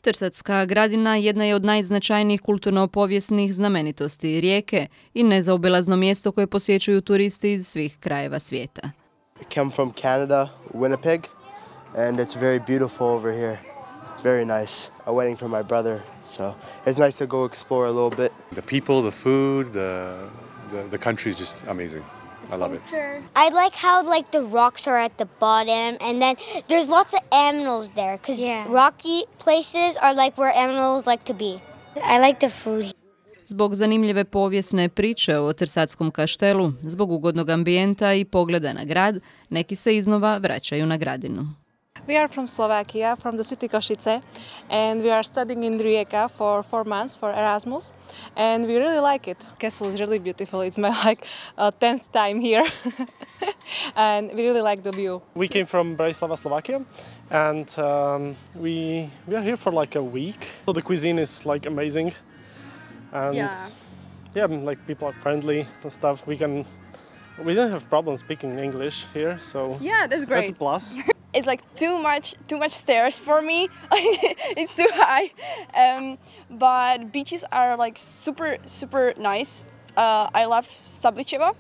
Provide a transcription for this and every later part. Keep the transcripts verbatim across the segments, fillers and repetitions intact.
Trsatska gradina jedna je od najznačajnijih kulturno-povijesnih znamenitosti Rijeke i nezaobilazno mjesto koje posjećuju turisti iz svih krajeva svijeta. I come from Canada, Winnipeg, and it's very beautiful over here. It's very nice. A wedding for my brother, so it's nice to go explore a little bit. The people, the food, the the, the country is just amazing. I love it. I like how like the rocks are at the bottom, and then there's lots of animals there because yeah. rocky places are like where animals like to be. I like the food. Zbog zanimljive povijesne priče o Trsatskom kaštelu, zbog ugodnog ambijenta i pogleda na grad, neki se iznova vraćaju na gradinu. We are from Slovakia, from the city Košice, and we are studying in Rijeka for four months for Erasmus, and we really like it. Castle is really beautiful. It's my like uh, tenth time here, and we really like the view. We came from Bratislava, Slovakia, and um, we we are here for like a week. So the cuisine is like amazing, and yeah, yeah like people are friendly and stuff. We can we don't have problems speaking English here, so yeah, that's great. That's a plus. It's like too much, too much stairs for me. It's too high, um, but beaches are like super, super nice. Uh, I love Sabličevo.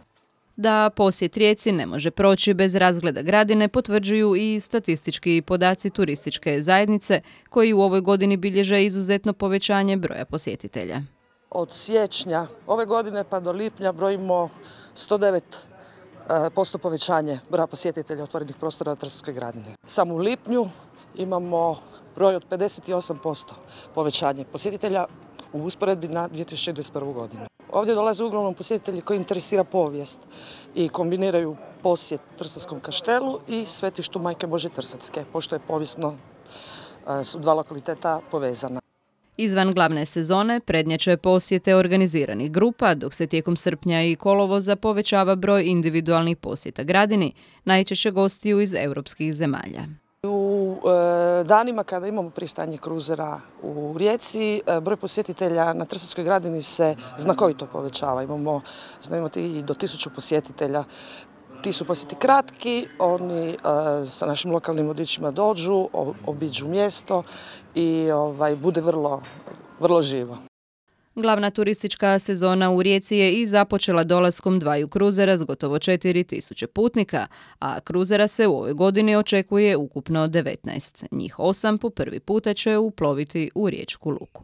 Da posjet Rijeci ne može proći bez razgleda gradine potvrđuju i statistički podaci turističke zajednice koji u ovoj godini bilježe izuzetno povećanje broja posjetitelja. Od siječnja ove godine pa do lipnja brojimo sto devet posto povećanje broja posjetitelja otvorenih prostora na Trsatskoj gradini. Samo u lipnju imamo broj od pedeset osam posto povećanje posjetitelja u usporedbi na dvije tisuće dvadeset prvu. godinu. Ovdje dolaze uglavnom posjetitelji koji interesira povijest i kombiniraju posjet Trsatskom kaštelu i svetištu Majke Božje Trsatske, pošto je povijesno su dva lokaliteta povezana. Izvan glavne sezone prednjače posjete organiziranih grupa, dok se tijekom srpnja i kolovoza povećava broj individualnih posjeta gradini, najčešće gostiju iz europskih zemalja. U e, danima kada imamo pristanje kruzera u Rijeci, e, broj posjetitelja na Trsatskoj gradini se znakovito povećava. Imamo, znamo imati i do tisuću posjetitelja. Ti su posjeti kratki, oni e, sa našim lokalnim vodičima dođu, obiđu mjesto i ovaj, bude vrlo, vrlo živo. Glavna turistička sezona u Rijeci je i započela dolaskom dvaju kruzera s gotovo četiri tisuće putnika, a kruzera se u ovoj godini očekuje ukupno devetnaest. Njih osam po prvi puta će uploviti u riječku luku.